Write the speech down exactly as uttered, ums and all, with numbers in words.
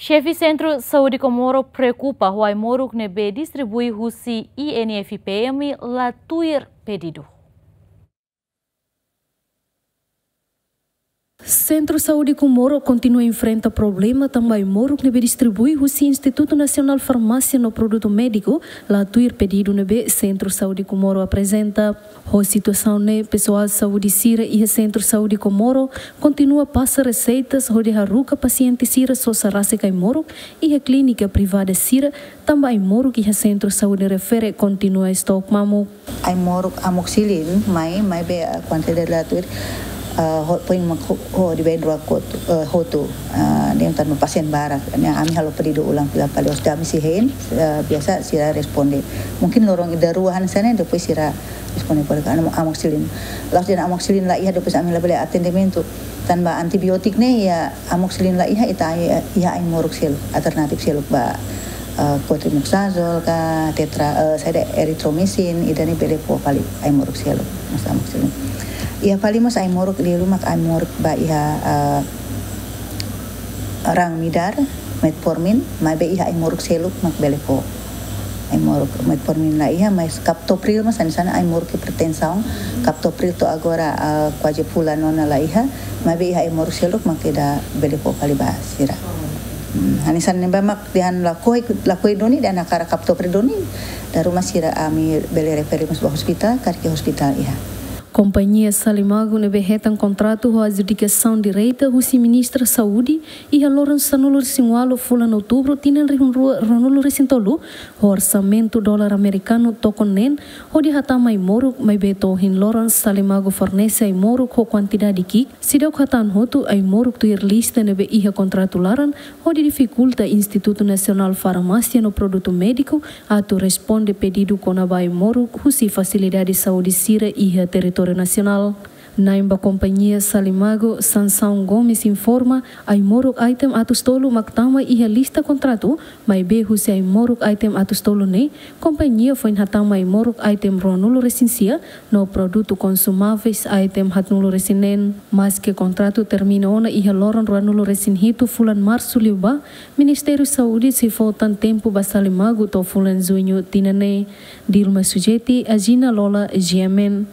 Xefe Sentru Saúde Comoro preokupa ho ai-moruk ne'ebé distribui husi I N F P M la tuir pedidu. Sentru Saúde Comoro kontinua enfrenta problema tanba ai-moruk ne'ebé distribui husi Institutu Nasionál Farmásia no Produtu Médiku la tuir pedidu ne'ebé Sentru Saúde Comoro aprezenta. Ho situasaun ne'e, pesoál saúde sira iha Sentru Saúde Comoro kontinua pasa reseitas hodi haruka pasiente sira sosa rasik ai-moruk iha klínika privada sira, tanba ai-moruk iha sentru saúde refere kontinua estok mamuk. Ai-moruk amoxicilin mai, maibé, ah, kuantidade la tuir, ah, ho, poin mak ho, ho di ben rua kotu, eh, hotu, ah, ne'e tanba pasiente barak. Ne'e ami halo pedidu ulang fila fali, os dami si hein, eh, biasa sira responde. Mungkin loron ida rua hanesan ne'e, depois sira responde por anu amoxicilin. La'ós dehan amoxicilin la iha, depois ami labele atendimentu. Tanba antibiotik ne'e, iha amoxicilin la iha, ita iha, iha ai-moruk seluk, alternatif seluk ba, eh, cotrimoxazole ka tetra, eh, saida, erythromycin, ida-ne'e bele fó fali ai-moruk seluk, mós amoxicilin. Iha fali mós ai-moruk liu mak ai-moruk ba iha, eh, raan midar, metformin, maibé iha ai-moruk seluk mak bele fó. Ai-moruk metformin la iha, mas captopril mós hanesan ai-moruk hipertensaun, captopril to'o agora, ah, kuaze fulan ona la iha, maibé iha ai-moruk seluk mak ita bele fó fali ba sira. Hmm, hanesan ne'ebá mak dehan lakohi, lakohi duni, dehan hakarak captopril duni, dala ruma sira ami bele refere mós ba ospitál, karik ospitál iha. Kompañia Salimago ne'ebé hetan kontratu ho adjudikasaun direta husi Ministra Saúde iha loron sanulu-resin-ualu fulan Outubru tinan rihun rua ruanulu-resin-tolu, ho orsamentu dolar amerikanu tokon neen, hodi hatama ai-moruk, maibé to'o ohin loron Salimago fornese ai-moruk ho kuantidade ki'ik, seidauk hatán hotu ai-moruk tuir lista ne'ebé iha kontratu laran, hodi difikulta Institutu Nasionál Farmásia no Produtu Médiku atu responde pedidu kona-ba ai-moruk husi fasilidade saúde sira iha territóriu nasionál. Na'in ba kompañia Salimago, Sansão Gomes informa, ai-moruk item atus tolu mak tama iha lista kontratu, maibé husi ai-moruk item atus tolu ne'e, kompañia foin hatama ai-moruk item ruanulu-resin-sia, no produtu konsumáveis item haatnulu-resin-neen. Maske kontratu termina ona iha loron ruanulu-resin-hitu fulan Marsu liubá, Ministériu Saúde sei fó tan tempu ba Salimago to'o fulan Juñu tinan ne'e. Dilma Sujeti, Agina Lola, G M N.